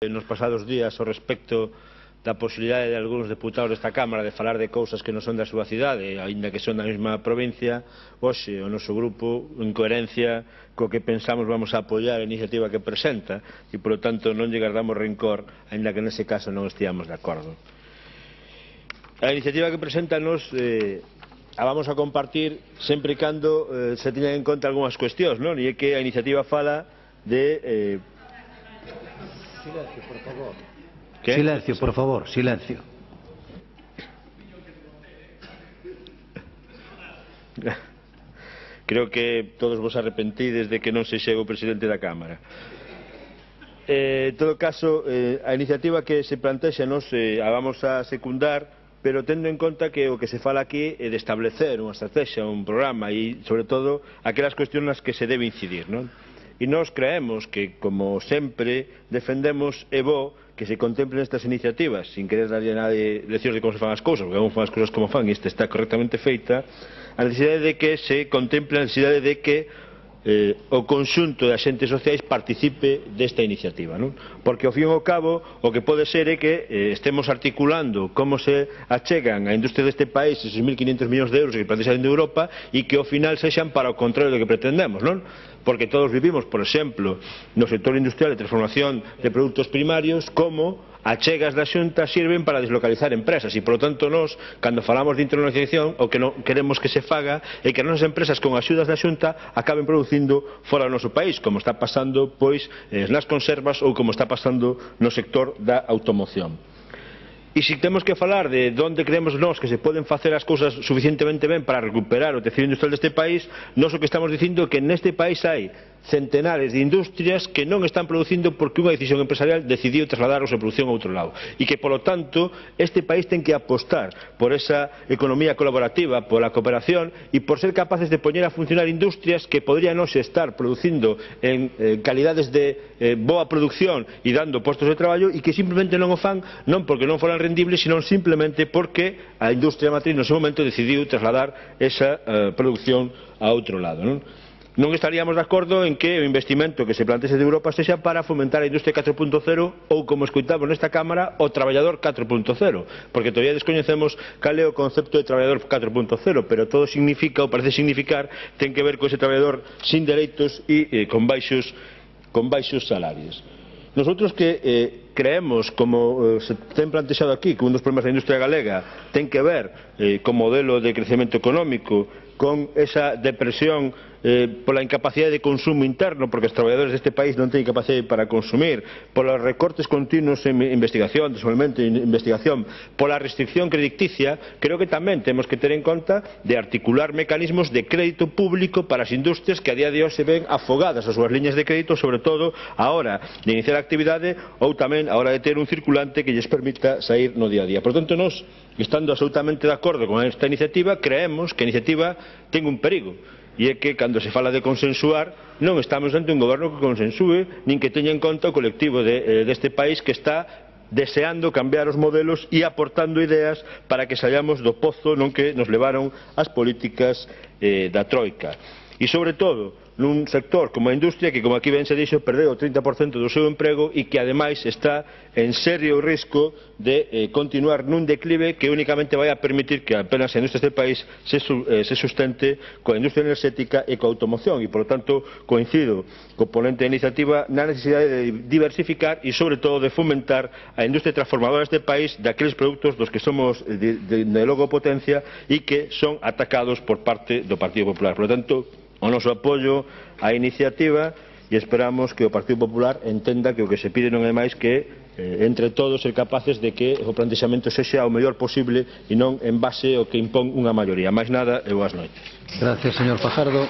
nos pasados días ao respecto da posibilidade de algúns deputados desta Cámara de falar de cousas que non son da súa cidade, aínda que son da mesma provincia. Hoxe o noso grupo, en coherencia co que pensamos, vamos a apoiar a iniciativa que presenta e, polo tanto, non lle guardamos rencor, aínda que nese caso non esteamos de acordo. A iniciativa que presenta nos a vamos a compartir sempre e cando se teñan en conta algunhas cuestións, non? E é que a iniciativa fala de Silencio, por favor. ¿Qué? Silencio, por favor, silencio. Creo que todos vos arrepentides de que non se chegue o presidente da Cámara. En todo caso, a iniciativa que se plantexa nos a vamos a secundar, pero tendo en conta que o que se fala aquí é de establecer unha estrategia, un programa e, sobre todo, aquelas cuestións nas que se debe incidir, non? E nós creemos que, como sempre, defendemos e bo que se contemplen estas iniciativas, sin querer darlle a nadie leccións de como se fan as cousas, porque non fan as cousas como fan e esta está correctamente feita, a necesidade de que se contemple a necesidade de que o conxunto de agentes sociais participe desta iniciativa, non? Porque ao fin e ao cabo o que pode ser é que estemos articulando como se achegan a industria deste país esos 1.500 millóns de euros que plantexan de Europa e que ao final sexan para o contrario do que pretendemos, non? Porque todos vivimos, por exemplo, no sector industrial de transformación de produtos primarios, como achegas da Xunta sirven para deslocalizar empresas e, polo tanto, nós, cando falamos de internacionalización, o que non queremos que se faga é que as nosas empresas con axudas da Xunta acaben producindo fora do noso país, como está pasando pois nas conservas ou como está pasando no sector da automoción. E se temos que falar de onde creemos nós que se poden facer as cousas suficientemente ben para recuperar o tecido industrial deste país, nós o que estamos dicindo é que neste país hai centenares de industrias que non están producindo porque unha decisión empresarial decidiu trasladar a súa produción a outro lado e que, polo tanto, este país ten que apostar por esa economía colaborativa, pola cooperación e por ser capaces de poñer a funcionar industrias que podrían hoxe estar producindo en calidades de boa producción e dando postos de traballo e que simplemente non o fan non porque non foran rendibles, sino simplemente porque a industria matriz no seu momento decidiu trasladar esa produción a outro lado, non? Non estaríamos de acordo en que o investimento que se plantexe de Europa sexa para fomentar a industria 4.0 ou, como escoitamos nesta Cámara, o traballador 4.0, porque todavía descoñecemos cal é o concepto de traballador 4.0, pero todo significa, ou parece significar, ten que ver con ese traballador sin dereitos e con baixos salarios. Nosotros que creemos, como se ten plantexado aquí, que un dos problemas da industria galega ten que ver con modelo de crecemento económico, con esa depresión pola incapacidade de consumo interno, porque os traballadores deste país non teñen capacidade para consumir, polos recortes continuos en investigación, desenvolvemento e investigación, pola restricción crediticia, creo que tamén temos que ter en conta de articular mecanismos de crédito público para as industrias que a día de hoxe se ven afogadas as súas liñas de crédito, sobre todo a hora de iniciar a actividade ou tamén a hora de ter un circulante que lles permita sair no día a día. Por tanto, nós, estando absolutamente de acordo con esta iniciativa, creemos que a iniciativa ten un perigo, e é que, cando se fala de consensuar, non estamos ante un goberno que consensúe, nin que teña en conta o colectivo deste país que está deseando cambiar os modelos e aportando ideas para que saíamos do pozo non que nos levaron as políticas da Troika. E, sobre todo, nun sector como a industria que, como aquí ben se dixo, perdeu o 30% do seu emprego e que, ademais, está en serio risco de continuar nun declive que únicamente vai a permitir que apenas a industria deste país se sustente coa industria enerxética e coa automoción e, por lo tanto, coincido co ponente da iniciativa na necesidade de diversificar e, sobre todo, de fomentar a industria transformadora deste país daqueles produtos dos que somos de logo potencia e que son atacados por parte do Partido Popular. Por lo tanto, o noso apoio á iniciativa e esperamos que o Partido Popular entenda que o que se pide non é máis que entre todos ser capaces de que o plantexamento sexa o mellor posible e non en base ao que impón unha maioría. Máis nada e boas noites. Gracias, señor Fajardo.